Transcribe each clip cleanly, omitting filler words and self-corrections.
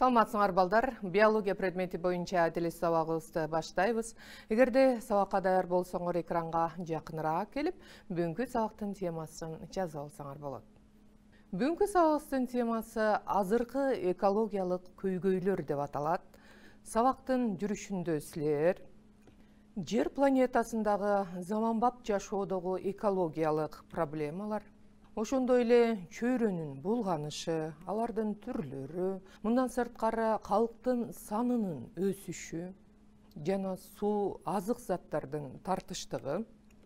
Саламатсыңар балдар, биология предмети боюнча теле сабагыбызды баштайбыз. Эгерде сабакка даяр болсоңор экранга жакыныраак келип, бүгүнкү сабактын темасын жазып алсаңар болот. Бүгүнкү сабагыбыздын темасы азыркы экологиялык көйгөйлөр деп аталат. Сабактын жүрүшүндө силер Жер планетасындагы заманбап жашоодогу экологиялык проблемалар, ошондой эле чөйрөнүн булганышы, алардын түрлөрү, мындан сырткары калктын санынын өсүшү жана суу азык заттардын тартыштыгы,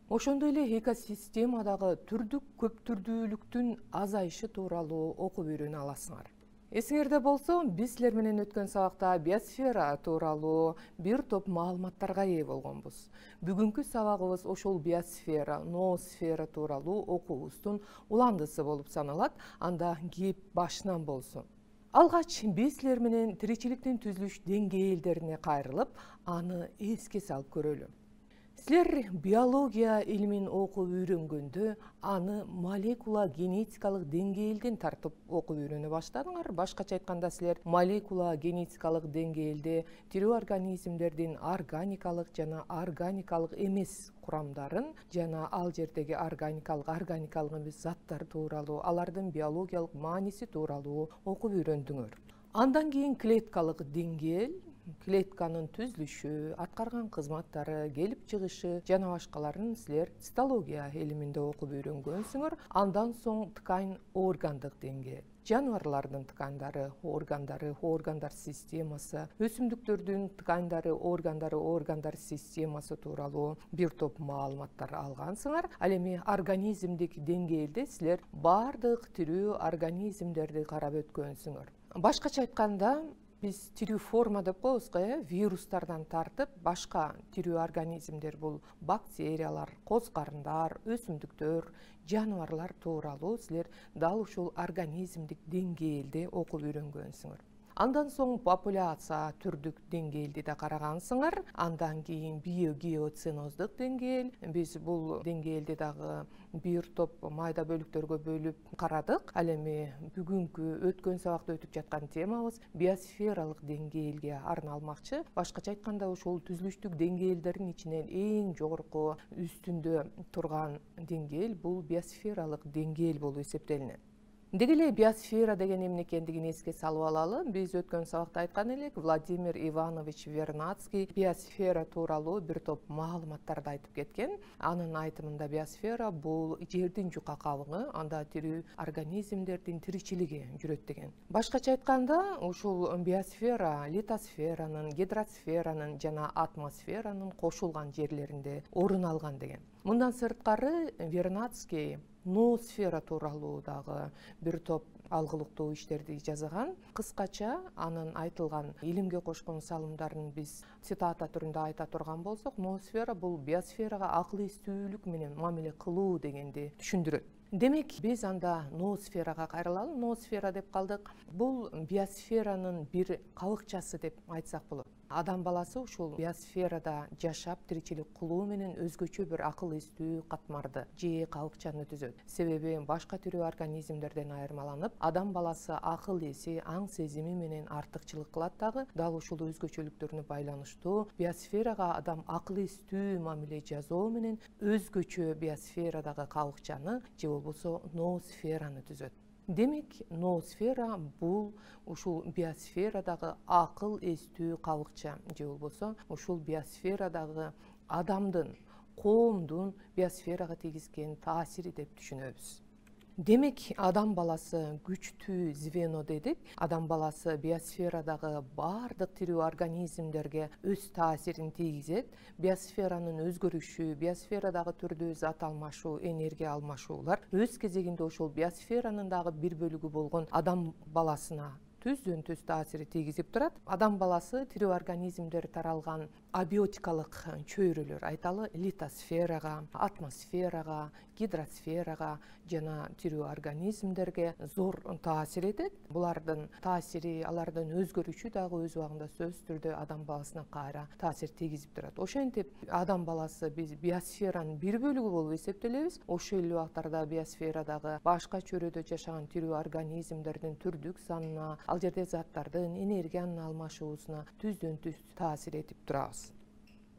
ошондой эле экосистемадагы түрдүк көптүрдүүлүктүн азайышы тууралуу окуп үйрөнө аласыңар. Эсиңерде болсо, биз силер менен өткөн сабакта биосфера тууралуу бир топ маалыматтарга ээ болгонбуз. Бүгүнкү сабагыбыз ошол биосфера, ноосфера тууралуу окуубуздун уландысы болуп саналат. Анда кеп башынан болсун. Алгач биз силер менен тиричиликтин түзүлүш деңгээлдерине кайрылып, аны эске салып көрөлү. Силер биология илимин окуп үйрөнгөндө аны молекула генетикалык деңгээлден тартып окуп үйрөнө баштадыңар. Башкача айтканда, силер молекула генетикалык деңгээлде тирүү организмдердин органикалык жана органикалык эмес курамдарын жана ал жердеги органикалык эмес заттар тууралуу, алардын биологиялык мааниси тууралуу окуп үйрөндүңөр. Андан кийин клеткалык деңгээл, клетканын түзүлүшү, аткарган кызматтары, келип чыгышы жана башкаларын силер цитология илиминде окуп үйрөнгөнсүңөр. Андан соң ткань органдык деңгээл, жаныбарлардын ткандары, органдар системасы, өсүмдүктөрдүн ткандары, органдар системасы тууралуу бир топ маалыматтар алгансыңар. Ал эми организмдик деңгээлде силер бардык тирүү организмдерди карап өткөнсүңөр. Башкача айтканда, биз тирүү форма деп коебуз го, вирустардан тартып, башка тирүү организмдер бул бактериялар, козгарындар, өсүмдүктөр, жаныбарлар тууралуу силер дал ушул организмдик деңгээлде окуп үйрөнгөнсүңөр. Андан соң популяция түрдүк деңгээлди да карагансыңар. Андан кийин биогеоценоздук деңгээл. Биз бул деңгээлди дагы бир топ майда бөлүктөргө бөлүп карадык. Ал эми бүгүнкү өткөн сабакта өтүп жаткан темабыз биосфералык деңгээлге арналмакчы. Башкача айтканда, ушул түзүлүштүк деңгээлдердин ичинен эң жогорку үстүндө турган деңгээл бул биосфералык деңгээл болуп эсептелинет. Деги эле биосфера деген эмне экендигин эске салып алалы. Биз өткөн сабакта айткан элек, Владимир Иванович Вернадский биосфера тууралуу бир топ маалыматтарды айтып кеткен. Анын айтымында биосфера бул жердин жука кабыгы, анда тирүү организмдердин тиричилиги жүрөт деген. Башкача айтканда, ушул биосфера литосферанын, гидросферанын жана атмосферанын кошулган жерлеринде орун алган деген. Мындан сырткары Вернадский ноосфера тууралуу дагы бир топ алгылыктуу иштерди жазган. Кыскача анын айтылган илимге кошкон салымдарын биз цитата түрүндө айта турган болсок, ноосфера бул биосферага акыл эстүүлүк менен мамиле кылуу дегенди түшүндүрөт. Демек, биз анда ноосферага кайрылалы. Ноосфера деп калдык. Бул биосферанын бир кабыкчасы деп айтсак болот. Адам баласы ушул биосферада жашап, тиричилик кылуу менен өзгөчө бир акыл эстүү катмарды же кабыкчаны түзөт. Себеби башка тирүү организмдерден айырмаланып, адам баласы акыл эси, аң сезими менен артыкчылык кылат дагы. Дал ушул өзгөчөлүктөрүнө байланыштуу биосферага адам акыл эстүү мамиле жасоо менен өзгөчө биосферадагы кабыкчаны же болбосо ноосфераны түзөт. Демек, ноосфера бул ушул биосферадагы акыл эстүү кабыкча же болбосо ушул биосферадагы адамдын, коомдун биосферага тийгизген таасири деп түшүнөбүз. Демек, адам баласы күчтүү звено дедик. Адам баласы биосферадагы бардык тирүү организмдерге өз таасирин тийгизет. Биосферанын өзгөрүшү, биосферадагы түрдүү зат алмашуу, энергия алмашуулар өз кезегинде ошол биосферанын дагы бир бөлүгү болгон адам баласына түздөн-түз таасири тийгизип турат. Адам баласы тирүү организмдер таралган абиотикалык чөйрөлөр айталы литосферага, атмосферага, гидросферага жана тирүү организмдерге зор таасир этет. Булардын таасири, алардын өзгөрүшү дагы өз убагында сөзсүз түрдө адам баласына кайра таасир тийгизип турат. Ошентип адам баласы биз биосферанын бир бөлүгү болуп эсептелебиз. Ошол эле убактарда биосферадагы башка чөйрөдө жашаган тирүү организмдердин түрдүк санына, ал жерде заттардын энергиянын алмашуусуна түздөн түз таасир этип турабыз.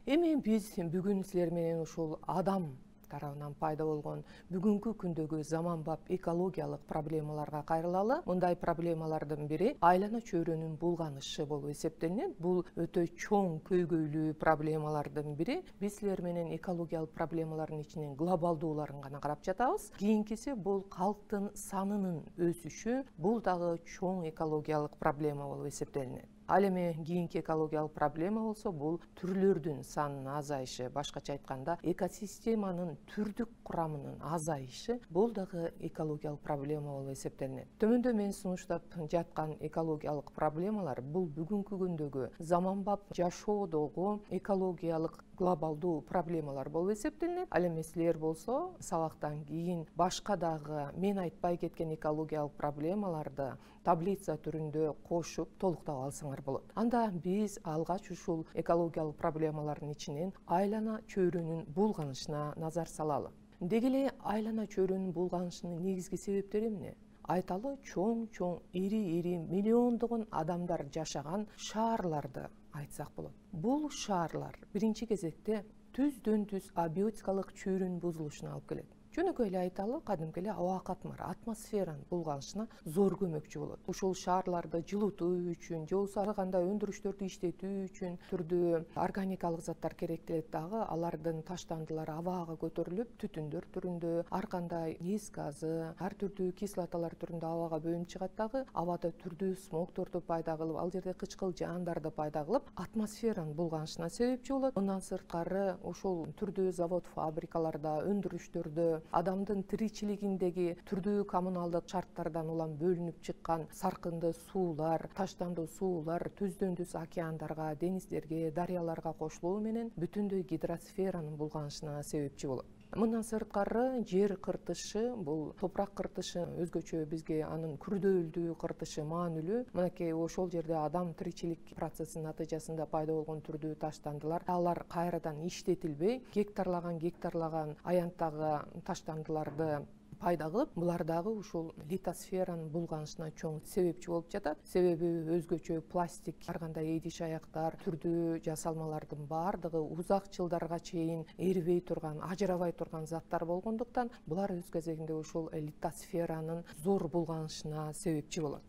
Эми биз бүгүн силер менен ушул адам тарабынан пайда болгон бүгүнкү күндөгү заманбап экологиялык проблемаларга кайрылалы. Мындай проблемалардын бири айлана чөйрөнүн булганышы болуп эсептелинет. Бул өтө чоң көйгөйлүү проблемалардын бири. Биз силер менен экологиялык проблемалардын ичинен глобалдууларын гана карап жатабыз. Кийинкиси бул калктын санынын өсүшү. Бул дагы чоң экологиялык проблема болуп эсептелинет. Ал эми кийинки экологиялык проблема болсо бул түрлөрдүн санынын азайышы, башкача айтканда экосистеманын түрдүк курамынын азайышы. Бул дагы экологиялык проблема болуп эсептелинет. Төмөндө мен сунуштап жаткан экологиялык проблемалар бул бүгүнкү күндөгү заманбап жашоодогу экологиялык глобалдуу проблемалар болуп эсептелинет. Ал эми силер болсо сабактан кийин башка дагы мен айтпай кеткен экологиялык проблемаларды таблица түрүндө кошуп толуктап алсаңар болот. Анда биз алгач ушул экологиялык проблемалардын ичинен айлана чөйрөнүн булганышына назар салалы. Деги эле айлана чөйрөнүн булганышынын негизги себептери эмне? Айталы чоң ири миллиондогон адамдар жашаган шаарларды айтсак болот. Бул шаарлар биринчи кезекте түздөн түз абиотикалык чөйрөнүн бузулушуна алып келет. Жөнөкөй эле айталы, кадимки эле аба катмары, атмосферанын булганышына зор көмөкчү болот. Ушул шаарларды жылытуу үчүн, же болбосо ар кандай өндүрүштөрдү иштетүү үчүн түрдүү органикалык заттар керектелет дагы. Алардын таштандылары абага көтөрүлүп, түтүндөр түрүндө, ар кандай эс газы, ар түрдүү кислоталар түрүндө абага бөлүнүп чыгат дагы. Абада түрдүү смогторду пайда кылып, ал жерде кычкыл жаандарды пайда кылып, атмосферанын булганышына себепчи болот. Мындан сырткары ушул түрдүү завод, фабрикаларда, өндүрүштөрдө адамдын тиричилигиндеги түрдүү коммуналдык шарттардан улам бөлүнүп чыккан саркынды суулар, таштандуу суулар түздөн түз океандарга, деңиздерге, дарыяларга кошулуу менен бүтүндөй гидросферанын булганышына себепчи болот. Мындан сырткары жер кыртышы, бул топурак кыртышы өзгөчө бизге анын күрдөөлдүү кыртышы маанилүү. Мынакей ошол жерде адам тиричилик процессинин натыйжасында пайда болгон түрдүү таштандылар, алар кайрадан иштетилбей, гектарлаган аянттагы таштандыларды пайда кылып, булар дагы ушул литосферанын булганышына чоң себепчи болуп жатат. Себеби өзгөчө пластик, ар кандай идиш аяктар, түрдүү жасалмалардын баардыгы узак жылдарга чейин эрибей турган, ажырабай турган заттар болгондуктан, булар өз кезегинде ушул литосферанын зор булганышына себепчи болот.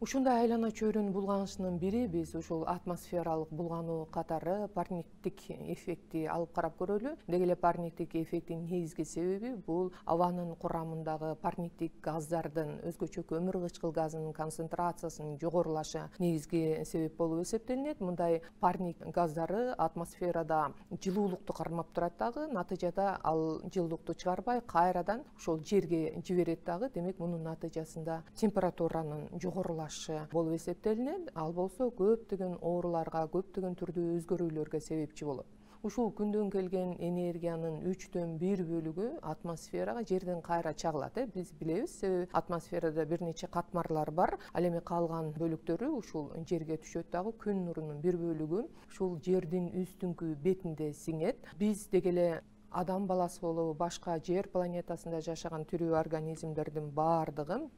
Ушундай айлана чөйрөнүн булганышынын бири биз ушул атмосфералык булгануу катары парниктик эффекти алып карап көрөлү. Деги эле парниктик эффектин негизги себеби бул абанын курамындагы парниктик газдардын, өзгөчө көмүр кычкыл газынын концентрациясынын жогорулашы негизги себеп болуп эсептелинет. Мындай парник газдары атмосферада жылуулукту кармап турат дагы, натыйжада ал жылуулукту чыгарбай кайрадан ошол жерге жиберет дагы. Демек, мунун натыйжасында температуранын жогорулашы болуп эсептелинет. Ал болсо көптөгөн ооруларга, көптөгөн түрдүү өзгөрүүлөргө себепчи болот. Ушул күндөн келген энергиянын 1/3 бөлүгү атмосферага жерден кайра чагылат. Биз билебиз, себеби атмосферада бир нече катмарлар бар. Ал эми калган бөлүктөрү ушул жерге түшөт дагы. Күн нурунун бир бөлүгү ушул жердин үстүңкү бетинде сиңет. Биз деги эле адам баласы болобу, башка жер планетасында жашаган тирүү организмдердин баардыгы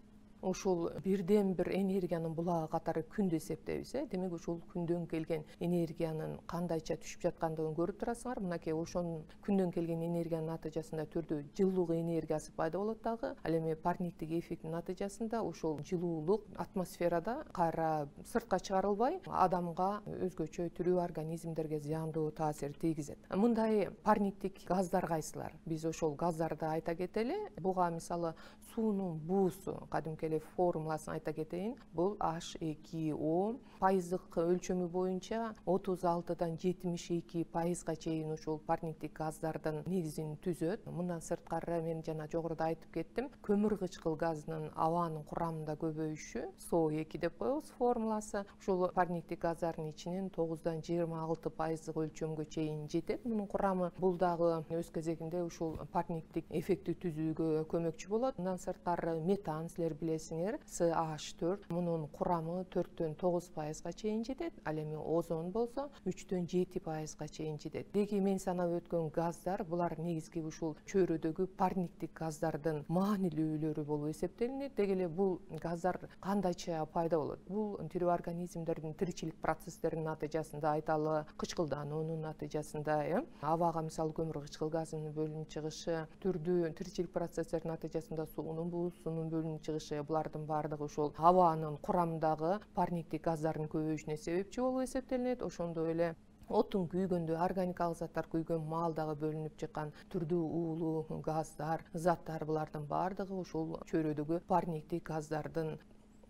ушул бирден бир энергиянын булагы катары күндү эсептейбиз. Демек, ушул күндөн келген энергиянын кандайча түшүп жаткандыгын көрүп турасыңар. Мынакей ошонун күндөн келген энергиянын натыйжасында түрдүү жылуулук энергиясы пайда болот дагы. Ал эми парниктик эффекттин натыйжасында ушул жылуулук атмосферада кайра сыртка чыгарылбай, адамга, өзгөчө тирүү организмдерге зыяндуу таасир тийгизет. Мындай парниктик газдар кайсылар? Биз ошол газдарды айта кетели. Буга мисалы суунун буусу, кадимки эле формуласын айта кетейин. Бул H2O пайыздык өлчөмү боюнча 36-дан 72%га чейин ушул парниктик газдардын негизин түзөт. Мындан сырткары мен жана жогоруда айтып кеттим, көмүр кычкыл газынын абанын курамында көбөйүшү SO2 деп коебуз формуласы. Ушул парниктик газдардын ичинен 9-дан 26% өлчөмгө чейин жетет. Мунун курамы бул дагы өз кезегинде ушул парниктик эффекти түзүүгө көмөкчү болот. Мындан сырткары метан силер билесиңер, CH4 мунун курамы 4-төн 9%га чейин жетет. Ал эми озон болсо 3-төн 7%га чейин жетет. Деги мен санап өткөн газдар булар негизги ушул чөйрөдөгү парниктик газдардын маанилүүлөрү болуп эсептелинет. Деги эле бул газдар кандайча пайда болот? Бул тирүү организмдердин тиричилик процесстеринин натыйжасында, айталы кычкылдануунун натыйжасында, абага мисалы көмүр кычкыл газынын бөлүнүп чыгышы, түрдүү тиричилик процесстердин натыйжасында суунун буусунун бөлүнүп чыгышы, булардын баардыгы ушул абанын курамындагы парниктик газдардын көбөйүшүнө себепчи болуп эсептелинет. Ошондой эле оттун күйгөндө, органикалык заттар күйгөн маалдагы бөлүнүп чыккан түрдүү уулуу газдар, заттар, булардын баардыгы ушул чөйрөдөгү парниктик газдардын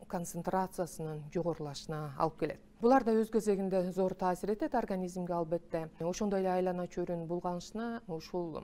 концентрациясынын жогорулашына алып келет. Булар да өз кезегинде зор таасир этет организмге албетте. Ошондой эле айлана чөйрөнүн булганышына ушул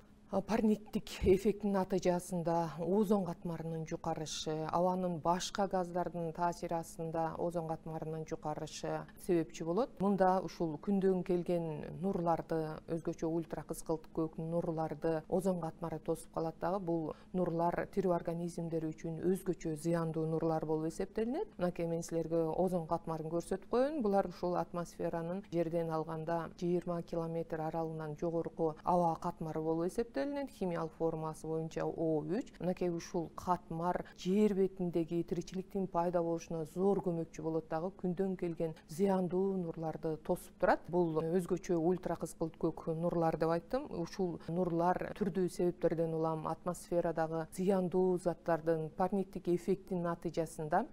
парниктик эффекттин натыйжасында озон катмарынын жукарышы, абанын башка газдардын таасири астында озон катмарынын жукарышы себепчи болот. Мында ушул күндөн келген нурларды, өзгөчө ультра кызгылт көк нурларды озон катмары тосуп калат дагы. Бул нурлар тирүү организмдер үчүн өзгөчө зыяндуу нурлар болуп эсептелинет. Мынакей мен силерге озон катмарын көрсөтүп коеюн. Булар ушул атмосферанын жерден алганда 20 километр аралыгынан жогорку аба катмары болуп эсептелинет. Химиялык формуласы боюнча O3. Мынакей ушул катмар жер бетиндеги тиричиликтин пайда болушуна зор көмөкчү болот дагы, күндөн келген зыяндуу нурларды тосуп турат. Бул өзгөчө ультра кызгылт көк нурлар деп айттым. Ушул нурлар түрдүү себептерден улам атмосферадагы зыяндуу заттардын парниктик эффектинин натыйжасында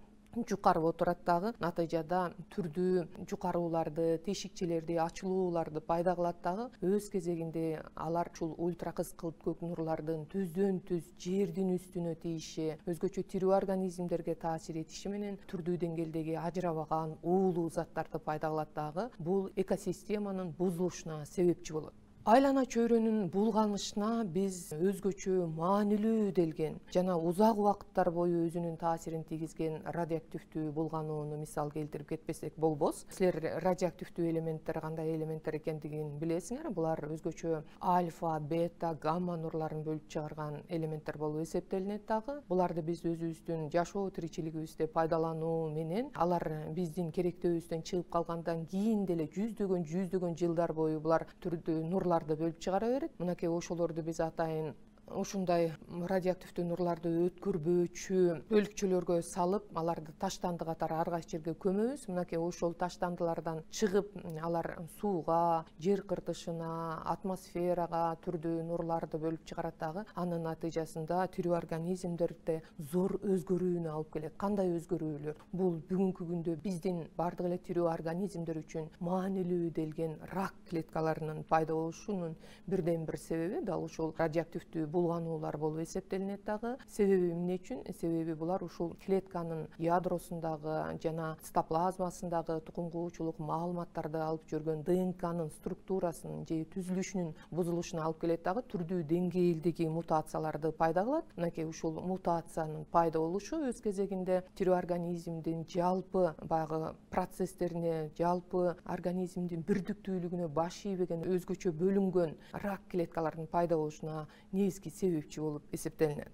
жукарып отурат дагы. Натыйжада түрдүү жукарууларды, тешикчелерди, ачылууларды пайда кылат дагы. Өз кезегинде алар ушул ультра кызгылт көк нурлардын түздөн түз жердин үстүнө тийиши, өзгөчө тирүү организмдерге таасир этиши менен түрдүү деңгээлдеги ажырабаган уулуу заттарды пайда кылат дагы. Бул экосистеманын бузулушуна себепчи болот. Айлана чөйрөнүн булганышына биз өзгөчө маанилүү делген жана узак убакыттар бою өзүнүн таасирин тийгизген радиоактивдүү булганууну мисал келтирип кетпесек болбос. Силер радиоактивдүү элементтер кандай элементтер экендигин билесиңер. Булар өзгөчө альфа, бета, гамма нурларын бөлүп чыгарган элементтер болуп эсептелинет дагы. Буларды биз өзүбүздүн жашоо тиричилигибизде пайдалануу менен алар биздин керектөөбүздөн чыгып калгандан кийин деле жүздөгөн жылдар бою булар түрдүү нурларды бөлүп чыгара берет. Мынакей ошолорду биз атайын ушундай радиоактивдүү нурларды өткөрбөөчү бөлүкчөлөргө салып, аларды таштанды катары ар кайсы жерге көмөбүз. Мынакей ошол таштандылардан чыгып, алар сууга, жер кыртышына, атмосферага түрдүү нурларды бөлүп чыгарат дагы. Анын натыйжасында тирүү организмдерде зор өзгөрүүнү алып келет. Кандай өзгөрүүлөр? Бул бүгүнкү күндө биздин бардык эле тирүү организмдер үчүн маанилүү делген рак клеткаларынын пайда болушунун бирден бир себеби дал ушул радиоактивдүү булгануулар болуп эсептелинет дагы. Себеби эмне үчүн? Себеби булар ушул клетканын ядросундагы жана цитоплазмасындагы тукум куучулук маалыматтарды алып жүргөн ДНКнын структурасынын же түзүлүшүнүн бузулушуна алып келет дагы. Түрдүү деңгээлдеги мутацияларды пайда кылат. Мынакей ушул мутациянын пайда болушу өз кезегинде тирүү организмдин жалпы баягы процесстерине, жалпы организмдин бирдиктүүлүгүнө баш ийбеген өзгөчө бөлүнгөн рак клеткаларынын пайда болушуна негизги себепчи болуп эсептелинет.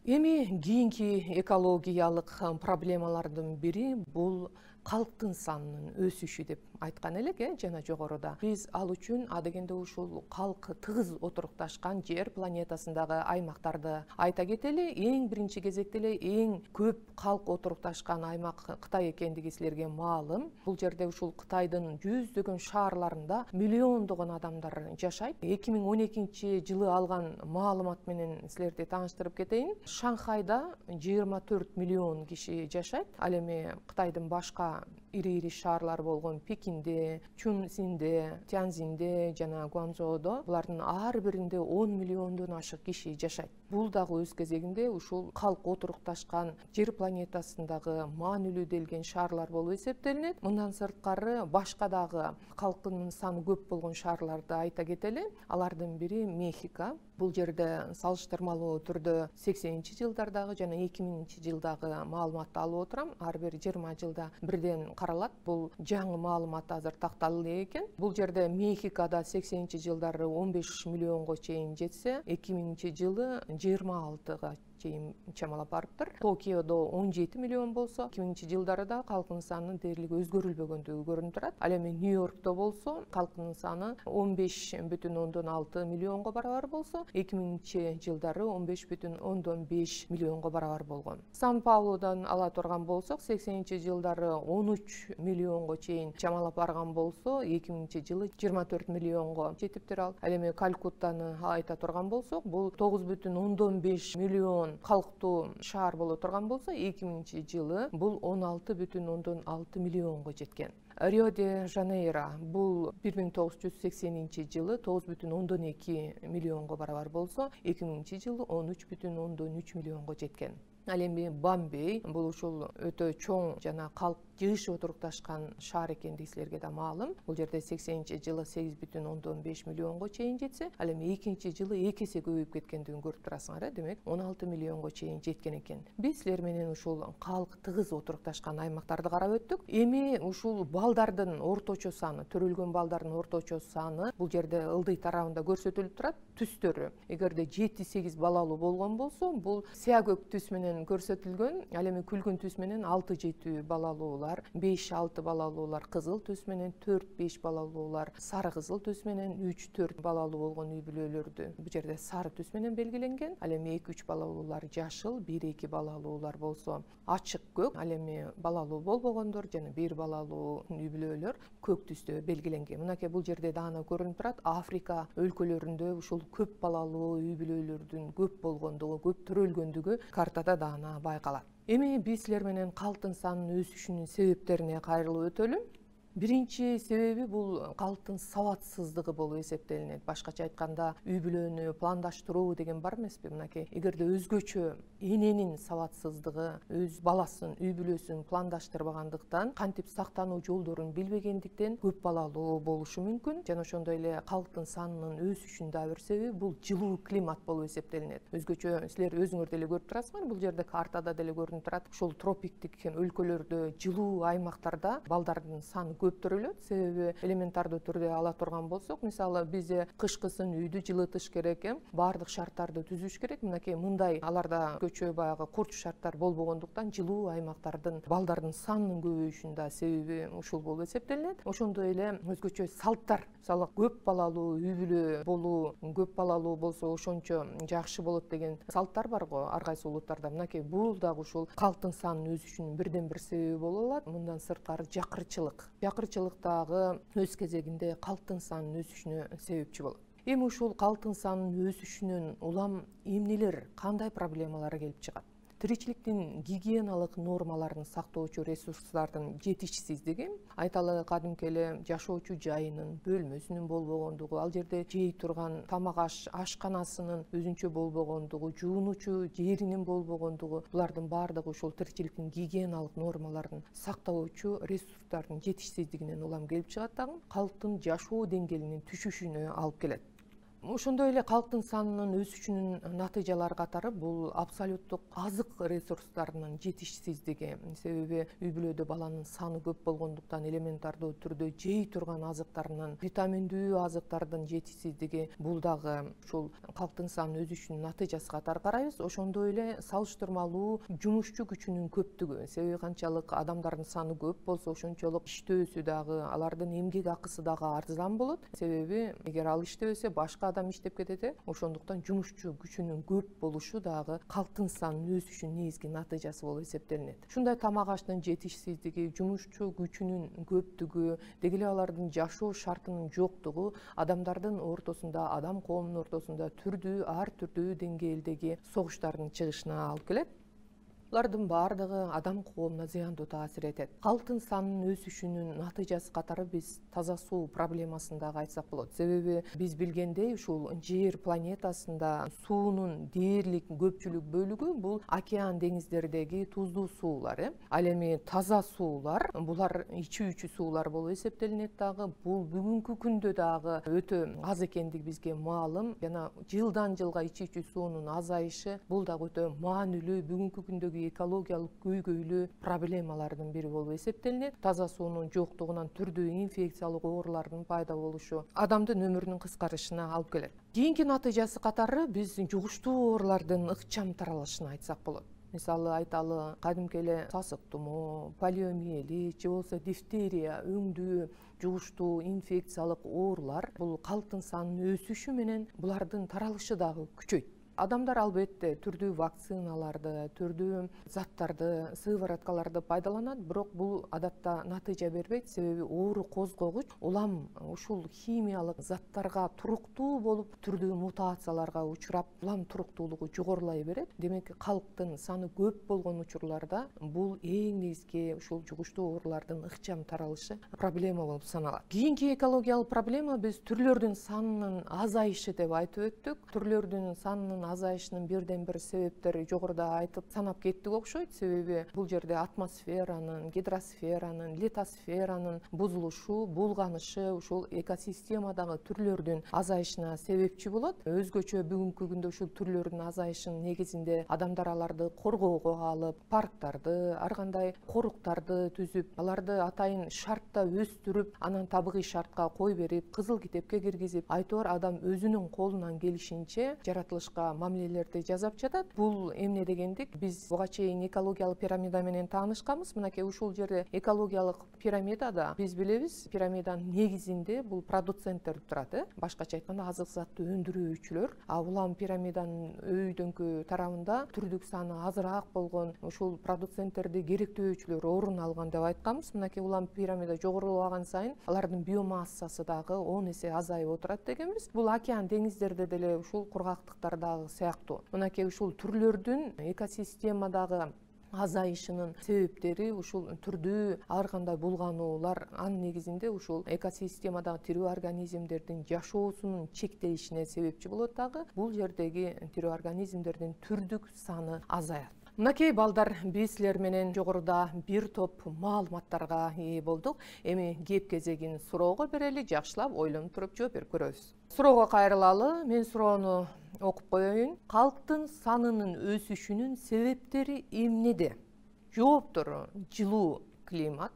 Эми кийинки экологиялык проблемалардын бири бул калктын санынын өсүшү деп айткан элек, жана жогоруда. Биз ал үчүн адегенде ушул калк тыгыз отурукташкан жер планетасындагы аймактарды айта кетели. Эң биринчи кезекте эле эң көп калк отурукташкан аймак Кытай экендиги силерге маалым. Бул жерде ушул Кытайдын жүздөгөн шаарларында миллиондогон адамдар жашайт. 2012 жылы алган маалымат менен силерди тааныштырып кетейин. Шанхайда 24 миллион киши жашайт. Ал эми Кытайдын башка ири шаарлар болгон Пекинде, Чунсинде, Тяньзинде жана Гуанчжоудо булардын ар биринде 10 миллиондон ашык киши жашайт. Бул дагы өз кезегинде ушул калк отурукташкан жер планетасындагы маанилүү делген шаарлар болуп эсептелинет. Мындан сырткары башка дагы калкынын саны көп болгон шаарларды айта кетели. Алардын бири Мехико. Бул жерде салыштырмалуу түрдө 80-жылдардагы жана 2000-жылдагы маалыматты алып отурам. Ар бир 20 жылда бирден каралат. Бул жаңы маалымат азыр такталды экен. Бул жерде Мехикода 80-жылдары 15 миллионго чейин жетсе, 2000-жылы 26-га чейин чамалап барыптыр. Токиодо 17 миллион болсо, 2000-жылдары да калкынын саны дээрлик өзгөрүлбөгөндүгү көрүнүп турат. Ал эми Нью-Йоркто болсо, калкынын саны 15,6 миллионго барабар болсо, 2000-жылдары 15,5 миллионго барабар болгон. Сан-Паулодон ала турган болсок, 80-жылдары 13 миллионго чейин чамалап барган болсо, 2000-жылы 24 миллионго жетиптир ал. Ал эми Калкуттаны айта турган болсок, бул 9,5 миллион калктуу шаар боло турган болсо, 2000-жылы бул 16,6 миллионго жеткен. Рио-де-Жанейро бул 1980-жылы 9,2 миллионго барабар болсо, 2000-жылы 13,3 миллионго жеткен. Ал эми Бомбей бул ушул өтө чоң жана калк жыш отурукташкан шаар экендиги силерге да маалым. Бул жерде 80-жылы 8,5 миллионго чейин жетсе, ал эми 2-жылы 2 эсе көбөйүп кеткендигин көрүп турасыңар, демек 16 миллионго чейин жеткен экен. Биз силер менен ушул калк тыгыз отурукташкан аймактарды карап өттүк. Эми ушул балдардын орточо саны, төрөлгөн балдардын орточо саны бул жерде ылдый тарабында көрсөтүлүп турат. Түстөрү, эгерде 7-8 балалуу болгон болсо, бул сыя көк түс менен көрсөтүлгөн. Ал эми күлгүн түс менен 6-7 балалуулар, 5-6 балалуулар кызыл түс менен, 4-5 балалуулар сары кызыл түс менен, 3-4 балалуу болгон үй бүлөлөрдү бул жерде сары түс менен белгиленген. Ал эми 2-3 балалуулар жашыл, 1-2 балалуулар болсо ачык көк. Ал эми балалуу болбогондор жана 1 балалуу үй бүлөлөр көк түстө белгиленген. Мынакей бул жерде даана көрүнүп турат. Африка өлкөлөрүндө ушул көп балалуу үй бүлөлөрдүн көп болгондугу, көп төрөлгөндүгү картада даана байкалат. Эми биз силер менен калктын санынын өсүшүнүн себептерине кайрылып өтөлү. Биринчи себеби бул калктын сабатсыздыгы болуп эсептелинет. Башкача айтканда, үй бүлөнү пландаштыруу деген бар эмеспи? Мынакей, эгерде өзгөчө эненин сабатсыздыгы, өз баласын, үй бүлөсүн пландаштырбагандыктан, кантип сактануу жолдорун билбегендиктен көп балалуу болушу мүмкүн. Жана ошондой эле калктын санынын өсүшүнүн да бир себеби бул жылуу климат болуп эсептелинет. Өзгөчө силер өзүңөр деле көрүп турасыңар, бул жерде картада деле көрүнүп турат. Ушул тропиктик өлкөлөрдө, жылуу аймактарда балдардын саны көп төрөлөт. Себеби элементардуу түрдө ала турган болсок, мисалы бизде кышкысын үйдү жылытыш керек, баардык шарттарды түзүш керек. Мынакей мындай аларда көчө баягы курч шарттар болбогондуктан жылуу аймактардын балдардын санынын көбөйүшүнүн себеби ушул болуп эсептелинет. Ошондой эле өзгөчө салттар, мисалы көп балалуу үй бүлө болуу, көп балалуу болсо ошончо жакшы болот деген салттар бар го ар кайсы улуттарда. Мынакей бул дагы ушул калктын санынын өсүшүнүн бирден бир себеби боло алат. Мындан сырткары жакырчылык дагы өз кезегинде калктын санынын өсүшүнө себепчи болот. Эми ушул калктын санынын өсүшүнөн улам эмнелер, кандай проблемалар келип чыгат? Тиричиликтин гигиеналык нормаларын сактоочу ресурстардын жетишсиздиги, айталы кадимки эле жашоочу жайынын, бөлмөсүнүн болбогондугу, ал жерде жей турган тамак ашканасынын өзүнчө болбогондугу, жуунуучу жеринин болбогондугу, булардын баардыгы ушул тиричиликтин гигиеналык нормаларын сактоочу ресурстардын жетишсиздигинен улам келип чыгат дагы, калктын жашоо деңгээлинин түшүшүнө алып келет. Ошондой эле калктын санынын өсүшүнүн натыйжалары катары бул абсолюттук азык ресурстарынын жетишсиздиги. Себеби үй бүлөдө баланын саны көп болгондуктан элементардуу түрдө жей турган азыктарынын, витаминдүү азыктардын жетишсиздиги бул дагы ушул калктын санынын өсүшүнүн натыйжасы катары карайбыз. Ошондой эле салыштырмалуу жумушчу күчүнүн көптүгү. Себеби канчалык адамдардын саны көп болсо, ошончолук иштөөсү дагы, алардын эмгек акысы дагы арзан болот. Себеби эгер ал иштебесе, башка адам иштеп кетет, ошондуктан жумушчу күчүнүн көп болушу дагы калктын санынын өсүшүнүн негизги натыйжасы болуп эсептелинет. Ушундай тамак аштын жетишсиздиги, жумушчу күчүнүн көптүгү, деги эле алардын жашоо шартынын жоктугу адамдардын ортосунда, адам коомунун ортосунда ар түрдүү деңгээлдеги согуштардын чыгышына алып келет. Булардын баардыгы адам коомуна зыяндуу таасир этет. Калктын санынын өсүшүнүн натыйжасы катары биз таза суу проблемасын дагы айтсак болот. Себеби биз билгендей ушул жер планетасында суунун дээрлик көпчүлүк бөлүгү бул океан деңиздердеги туздуу суулар. Ал эми таза суулар, булар ичүүчү суулар болуп эсептелинет дагы. Бул бүгүнкү күндө дагы өтө аз экендиги бизге маалым. Жана жылдан жылга ичүүчү суунун азайышы бул дагы өтө маанилүү бүгүнкү күндөгү экологиялык көйгөйлүү проблемалардын бири болуп эсептелинет. Таза суунун жоктугунан түрдүү инфекциялык оорулардын пайда болушу адамдын өмүрүнүн кыскарышына алып келет. Кийинки натыйжасы катары биз жугуштуу оорулардын ыкчам таралышын айтсак болот. Мисалы айталы, кадимки эле сасык тумоо, полиомиелит же болбосо дифтерия, өңдүү жугуштуу инфекциялык оорулар бул калктын санынын өсүшү менен булардын таралышы дагы күчөйт. Адамдар албетте түрдүү вакциналарды, түрдүү заттарды, сывороткаларды пайдаланат, бирок бул адатта натыйжа бербейт. Себеби оору козгогуч улам ушул химиялык заттарга туруктуу болуп, түрдүү мутацияларга учурап, улам туруктуулугу жогорулай берет. Демек, калктын саны көп болгон учурларда бул эң негизги ушул жугуштуу оорулардын ыкчам таралышы проблема болуп саналат. Кийинки экологиялык проблема биз түрлөрдүн санынын азайышы деп айтып өттүк. Түрлөрдүн санынын азайышынын бирден бир себептери жогоруда айтып санап кеттик окшойт. Себеби бул жерде атмосферанын, гидросферанын, литосферанын бузулушу, булганышы ушул экосистемадагы түрлөрдүн азайышына себепчи болот. Өзгөчө бүгүнкү күндө ушул түрлөрдүн азайышынын негизинде адамдар аларды коргоого алып, парктарды, ар кандай коруктарды түзүп, аларды атайын шартта өстүрүп, анан табигый шартка кой берип, кызыл китепке киргизип, айтор адам өзүнүн колунан келишинче жаратылышка мамилелерди жасап жатат. Бул эмне дегендик? Биз буга чейин экологиялык пирамида менен таанышканбыз. Мынакей ушул жерде экологиялык пирамидада биз билебиз, пирамиданын негизинде бул продуценттер турат. Башкача айтканда азык затты өндүрүүчүлөр. Улам пирамиданын өйдөңкү тарабында түрдүк саны азыраак болгон ушул продуценттерди керектөөчүлөр орун алган деп айтканбыз. Мынакей улам пирамида жогорулаган сайын алардын биомассасы дагы 10 эсе азайып отурат дегенбиз. Бул океан деңиздерде деле ушул кургактыктардагы сыяктуу. Мынакей ушул түрлөрдүн экосистемадагы азайышынын себептери ушул түрдүү ар кандай булгануулар, анын негизинде ушул экосистемадагы тирүү организмдердин жашоосунун чектелишине себепчи болот дагы. Бул жердеги тирүү организмдердин түрдүк саны азаят. Мынакей балдар, биз силер менен жогоруда бир топ маалыматтарга ээ болдук. Эми кеп кезегин суроого берели, жакшылап ойлонуп туруп жооп берип көрөбүз. Суроого кайрылалы. Мен суроону окуп коеюн. Калктын санынын өсүшүнүн себептери эмнеде? Жооптору: жылуу климат,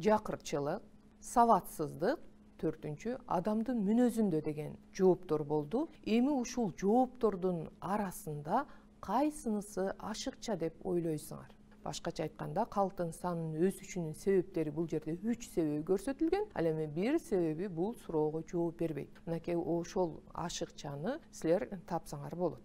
жакырчылык, сабатсыздык, төртүнчү адамдын мүнөзүндө деген жооптор болду. Эми ушул жооптордун арасында кайсынысы ашыкча деп ойлойсуңар? Башкача айтканда, калктын санынын өсүшүнүн себептери бул жерде 3 себеби көрсөтүлгөн. Ал эми бир себеби бул суроого жооп бербейт. Мынакей ошол ашыкчаны силер тапсаңар болот.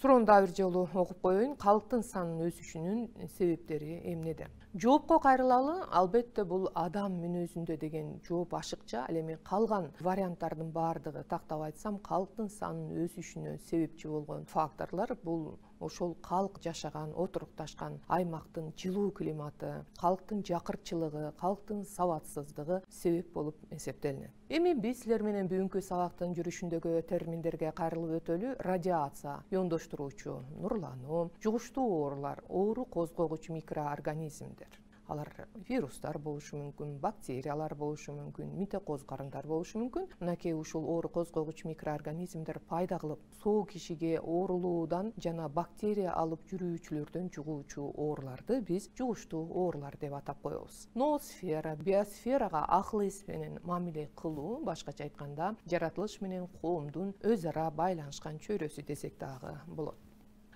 Суроону дагы бир жолу окуп коеюн. Калктын санынын өсүшүнүн себептери эмнеде? Жоопко кайрылалы. Албетте бул адам мүнөзүндө деген жооп ашыкча. Ал эми калган варианттардын баардыгы, тактап айтсам, калктын санынын өсүшүнө себепчи болгон факторлор бул ошол калк жашаган, отурукташкан аймактын жылуу климаты, калктын жакырчылыгы, калктын сабатсыздыгы себеп болуп эсептелинет. Эми биз силер менен бүгүнкү сабактын жүрүшүндөгү терминдерге кайрылып өтөлү. Радиация, иондоштуруучу нурлануу, жугуштуу оорулар, оору козгогуч микроорганизмдер. Алар вирустар болушу мүмкүн, бактериялар болушу мүмкүн, митокоз карындар болушу мүмкүн. Мынакей ушул оору козгогуч микроорганизмдер пайда кылып, соо кишиге оорулуудан жана бактерия алып жүрүүчүлөрдөн жугуучу ооруларды биз жугуштуу оорулар деп атап коебуз. Ноосфера, биосферага акыл эс менен мамиле кылуу, башкача айтканда, жаратылыш менен коомдун өз ара байланышкан чөйрөсү десек дагы болот.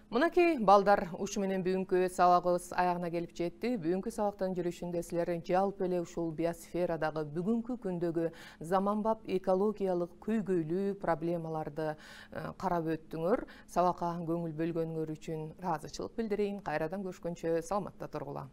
Мынакей балдар, ушу менен бүгүнкү сабагыбыз аягына келип жетти. Бүгүнкү сабактын жүрүшүндө силер жалпы эле ушул биосферадагы бүгүнкү күндөгү заманбап экологиялык көйгөйлүү проблемаларды карап өттүңөр. Сабакка көңүл бөлгөнүңөр үчүн ыраазычылык билдирейин. Кайрадан көрүшкөнчө саламатта тургула.